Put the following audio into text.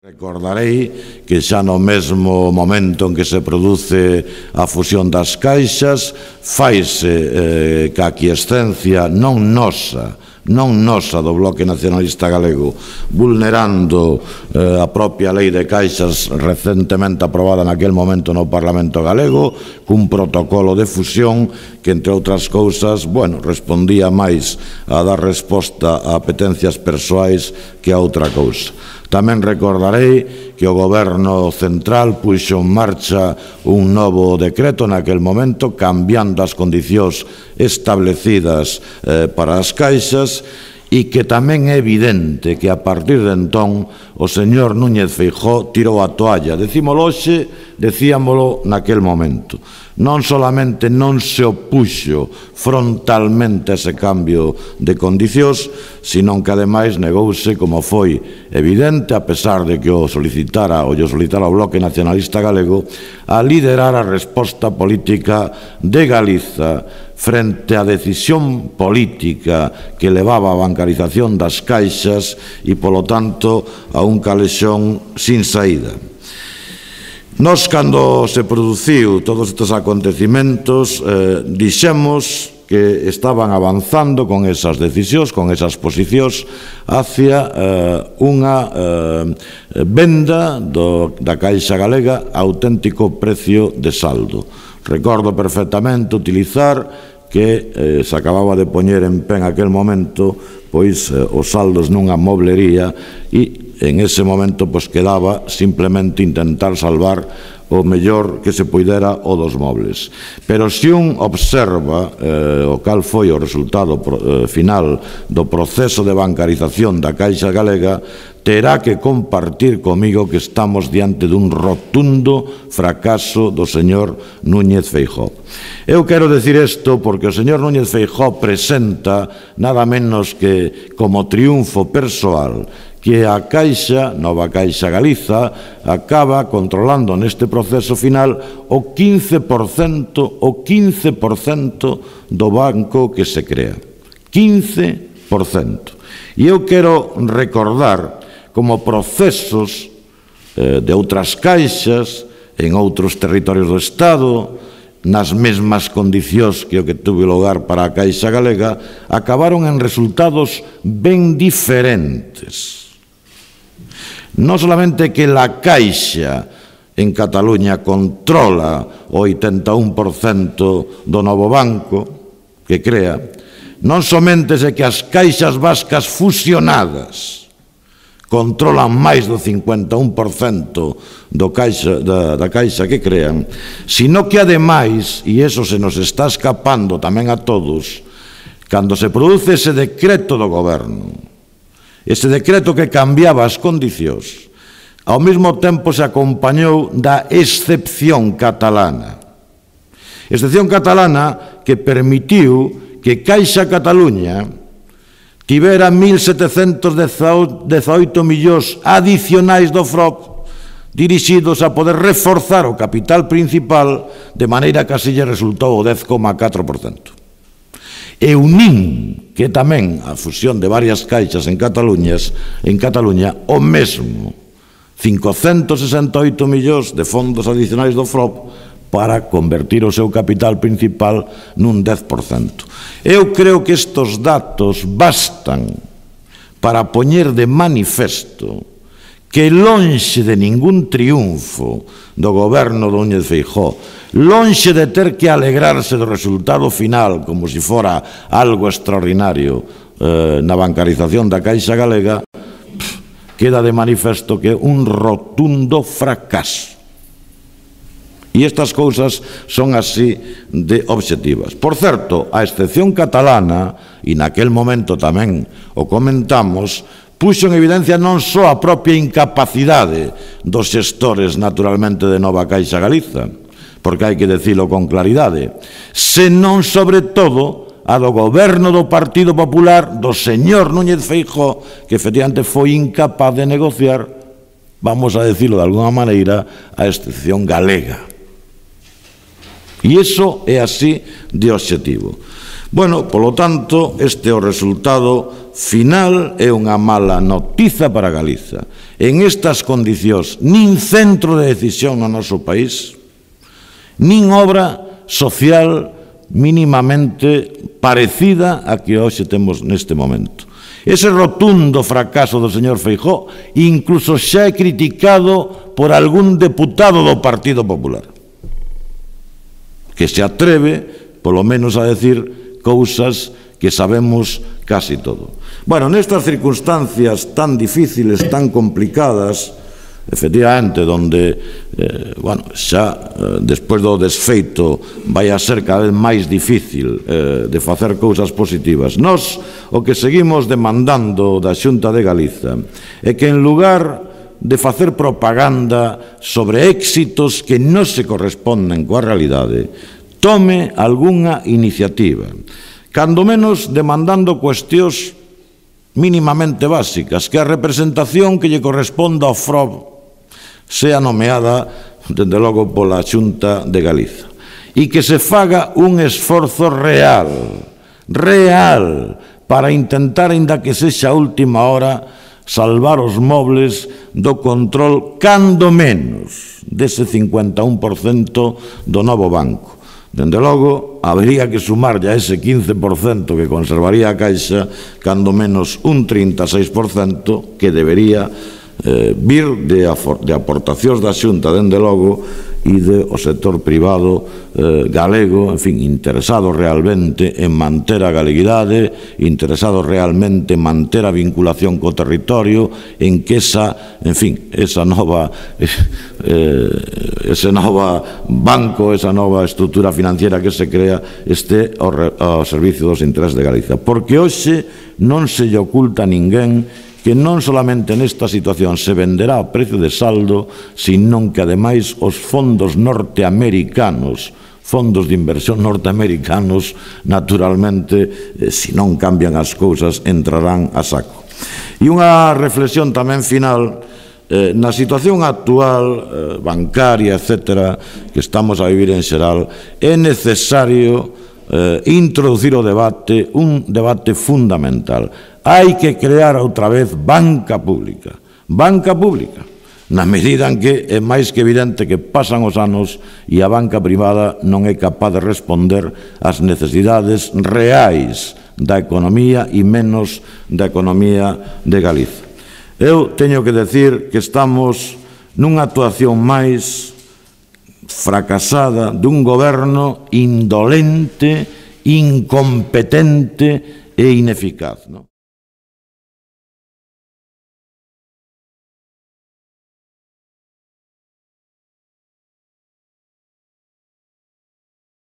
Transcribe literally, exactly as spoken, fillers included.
Recordarei que xa no mesmo momento en que se produce a fusión das caixas faise eh, ca aquiescencia non nosa, non nosa do Bloque Nacionalista Galego, vulnerando eh, a propia lei de caixas recentemente aprobada naquel momento no Parlamento Galego, cun protocolo de fusión que, entre outras cousas, bueno, respondía máis a dar resposta a apetencias persoais que a outra cousa. Tamén recordarei que o Goberno Central puxo en marcha un novo decreto naquel momento, cambiando as condicións establecidas eh, para as caixas, e que tamén é evidente que a partir de entón o señor Núñez Feijóo tirou a toalla. Decímolo hoxe, decíamolo naquel momento. Non solamente non se opuxo frontalmente a ese cambio de condicións, senón que ademais negouse, como foi evidente, a pesar de que o solicitara o lle solicitara o Bloque Nacionalista Galego, a liderar a resposta política de Galiza frente á decisión política que levaba a bancarización das caixas e, polo tanto, a un calexón sin saída. Nós, cando se produciu todos estes acontecimentos, eh, dixemos que estaban avanzando con esas decisións, con esas posicións, hacia eh, unha eh, venda do, da Caixa Galega a auténtico precio de saldo. Recordo perfectamente utilizar que eh, se acababa de poñer en pé en aquel momento pois eh, os saldos nunha moblería e en ese momento pois quedaba simplemente intentar salvar o mellor que se puidera o dos mobles. Pero se un observa eh, o cal foi o resultado eh, final do proceso de bancarización da Caixa Galega, terá que compartir comigo que estamos diante dun rotundo fracaso do señor Núñez Feijóo. Eu quero decir isto porque o señor Núñez Feijóo presenta nada menos que como triunfo persoal que a Caixa, Nova Caixa Galiza, acaba controlando neste proceso final o quince por cento, o quince por cento do banco que se crea. quince por cento. E eu quero recordar como procesos eh, de outras caixas en outros territorios do Estado, nas mesmas condicións que o que tuve lugar para a Caixa Galega, acabaron en resultados ben diferentes. Non solamente que la Caixa en Cataluña controla o oitenta e un por cento do novo banco que crea, non somente é que as caixas vascas fusionadas controlan máis do cincuenta e un por cento do caixa, da, da caixa que crean, sino que ademais, e iso se nos está escapando tamén a todos, cando se produce ese decreto do Goberno, ese decreto que cambiaba as condicións, ao mesmo tempo se acompañou da excepción catalana. Excepción catalana que permitiu que Caixa Cataluña tivera mil setecentos dezaoito millóns adicionais do F R O P dirixidos a poder reforzar o capital principal, de maneira que así lle resultou o dez coma catro por cento. E unín que tamén a fusión de varias caixas en Cataluña, en Cataluña o mesmo, cincocentos sesenta e oito millóns de fondos adicionais do F R O P para convertir o seu capital principal nun dez por cento. Eu creo que estes datos bastan para poñer de manifesto que lonxe de ningún triunfo do goberno do Núñez Feijóo, lonxe de ter que alegrarse do resultado final como se fora algo extraordinario eh, na bancarización da Caixa Galega, pff, queda de manifesto que é un rotundo fracaso. E estas cousas son así de obxectivas. Por certo, a excepción catalana, e naquel momento tamén o comentamos, puxo en evidencia non só a propia incapacidade dos xestores, naturalmente, de Nova Caixa Galiza, porque hai que dicilo con claridade, senón, sobre todo, a do goberno do Partido Popular, do señor Núñez Feijóo, que efectivamente foi incapaz de negociar, vamos a dicilo de alguna maneira, a excepción galega. E iso é así de obxectivo. Bueno, polo tanto, este é o resultado final, é unha mala notiza para Galiza. En estas condicións, nin centro de decisión no noso país, nin obra social mínimamente parecida a que hoxe temos neste momento. Ese rotundo fracaso do señor Feijóo incluso xa é criticado por algún deputado do Partido Popular, que se atreve, polo menos, a decir cousas que sabemos casi todo. Bueno, nestas circunstancias tan difíciles, tan complicadas, efectivamente, donde, eh, bueno, xa eh, despois do desfeito vai a ser cada vez máis difícil eh, de facer cousas positivas. Nós o que seguimos demandando da Xunta de Galiza é que, en lugar de facer propaganda sobre éxitos que non se corresponden coa realidade, tome algunha iniciativa, cando menos demandando cuestións mínimamente básicas, que a representación que lle corresponda ao F R O B sea nomeada, dende logo, pola Xunta de Galiza, e que se faga un esforzo real, real, para intentar, aínda que sexa a última hora, salvar os mobles do control, cando menos, dese cincuenta e un por cento do novo banco. Dende logo, habería que sumarlle a ese quince por cento que conservaría a Caixa, cando menos un trinta e seis por cento que debería eh, vir de, de aportacións da Xunta, dende logo, e do sector privado eh, galego, en fin, interesado realmente en manter a galeguidade, interesado realmente en manter a vinculación co territorio, en que esa, en fin, esa nova eh, ese nova banco, esa nova estrutura financiera que se crea este ao, ao servicio dos intereses de Galiza. Porque hoxe non se lle oculta a ninguén que non solamente nesta situación se venderá a precio de saldo, sino que, ademais, os fondos norteamericanos, fondos de inversión norteamericanos, naturalmente, eh, se non cambian as cousas, entrarán a saco. E unha reflexión tamén final, eh, na situación actual, eh, bancaria, etcétera, que estamos a vivir en xeral, é necesario eh, introducir o debate, un debate fundamental. Hai que crear outra vez banca pública. Banca pública. Na medida en que é máis que evidente que pasan os anos e a banca privada non é capaz de responder ás necesidades reais da economía e menos da economía de Galiza. Eu teño que decir que estamos nunha actuación máis fracasada dun goberno indolente, incompetente e ineficaz, non?